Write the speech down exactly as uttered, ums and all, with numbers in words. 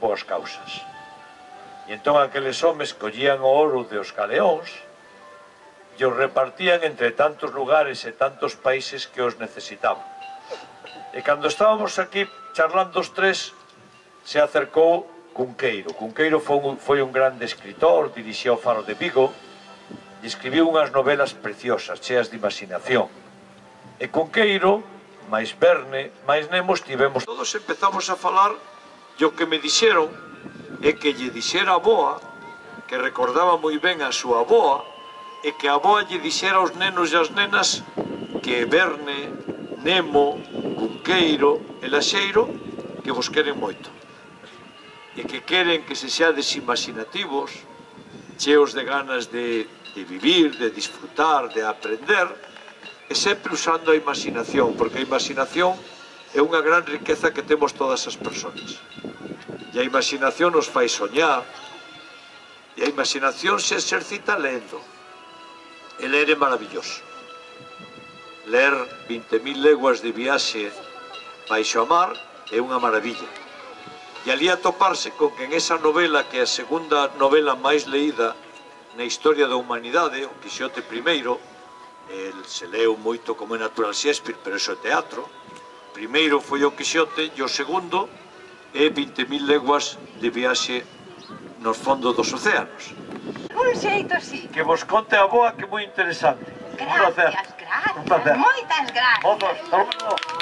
boas causas. E entón aqueles homes collían o ouro dos galeóns e os repartían entre tantos lugares e tantos países que os necesitaban. E cando estábamos aquí charlando os tres, se acercou Cunqueiro. Cunqueiro foi un, foi un grande escritor, dirixía o Faro de Vigo e escribiu unhas novelas preciosas, cheas de imaginación. E Cunqueiro, máis Verne, máis Nemo, estivemos todos, empezamos a falar e o que me dixeron é que lle dixera a boa, que recordaba moi ben a súa boa, e que a boa lle dixera aos nenos e as nenas que Verne, Nemo, Cunqueiro e Laxeiro que vos queren moito e que queren que se seades imaginativos, cheos de ganas de, de vivir, de disfrutar, de aprender, e sempre usando a imaginación, porque a imaginación é unha gran riqueza que temos todas as persoas. E a imaginación nos fai soñar, e a imaginación se exercita lendo. E ler é maravilloso. Ler vinte mil leguas de viaxe baixo a mar é unha maravilla. E ali atoparse con que en esa novela, que é a segunda novela máis leída na historia da humanidade, o Quijote primeiro, el se leu moito como é natural Shakespeare, pero iso é teatro. Primeiro foi o Quijote e o segundo é vinte mil leguas de viaxe nos fondos dos océanos. Un xeito, sí. Que vos conte a boa, que é moi interesante. Gracias, gracias. Moitas gracias.